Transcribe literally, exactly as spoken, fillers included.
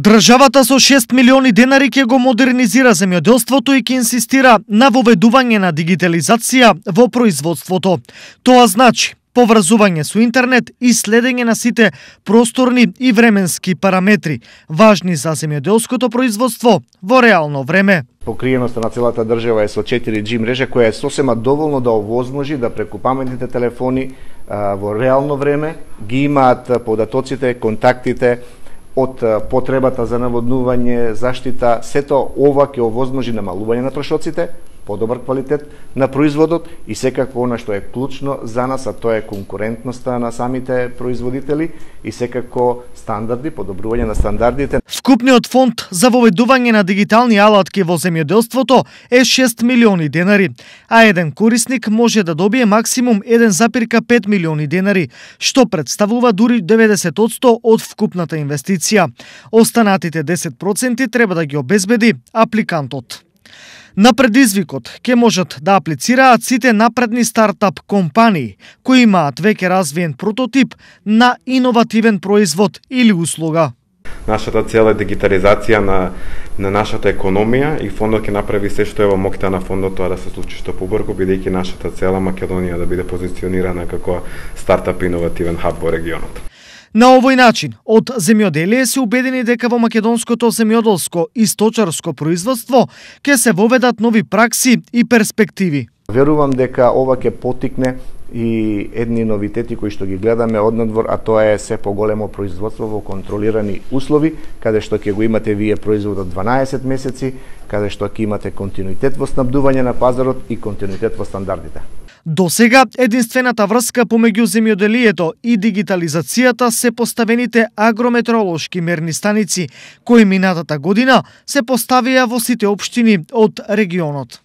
Државата со шест милиони денари ќе го модернизира земјоделството и ќе инсистира на воведување на дигитализација во производството. Тоа значи поврзување со интернет и следење на сите просторни и временски параметри, важни за земјоделското производство во реално време. Покриеноста на целата држава е со четири џи мрежа која е сосема доволно да овозможи да преку паметните телефони а, во реално време ги имаат податоците, контактите од потребата за наводнување, заштита, сето ова ќе овозможи намалување на трошоците, подобар квалитет на производот и секако она што е клучно за нас, а тоа е конкурентноста на самите производители и секако стандарди, подобрување на стандардите. Вкупниот фонд за воведување на дигитални алатки во земјоделството е шест милиони денари, а еден корисник може да добие максимум еден запирка пет милиони денари, што представува дури деветдесет одсто од вкупната инвестиција. Останатите десет проценти треба да ги обезбеди апликантот. На предизвикот ќе можат да аплицираат сите напредни стартап компании кои имаат веќе развиен прототип на иновативен производ или услуга. Нашата цел е дигитализација на, на нашата економија и фондот ќе направи се што е во моќта на фондот тоа да се случи што побрзо, бидејќи нашата цела Македонија да биде позиционирана како стартап иновативен хаб во регионот. На овој начин, од земјоделие се убедени дека во македонското земјоделско и сточарско производство ќе се воведат нови пракси и перспективи. Верувам дека ова ќе потикне и едни новитети кои што ги гледаме однадвор, а тоа е се поголемо производство во контролирани услови, каде што ќе го имате вие производот дванаесет месеци, каде што ќе имате континуитет во снабдување на пазарот и континуитет во стандардите. До сега, единствената врска помеѓу земјоделието и дигитализацијата се поставените агрометеоролошки мерни станици, кои минатата година се поставија во сите општини од регионот.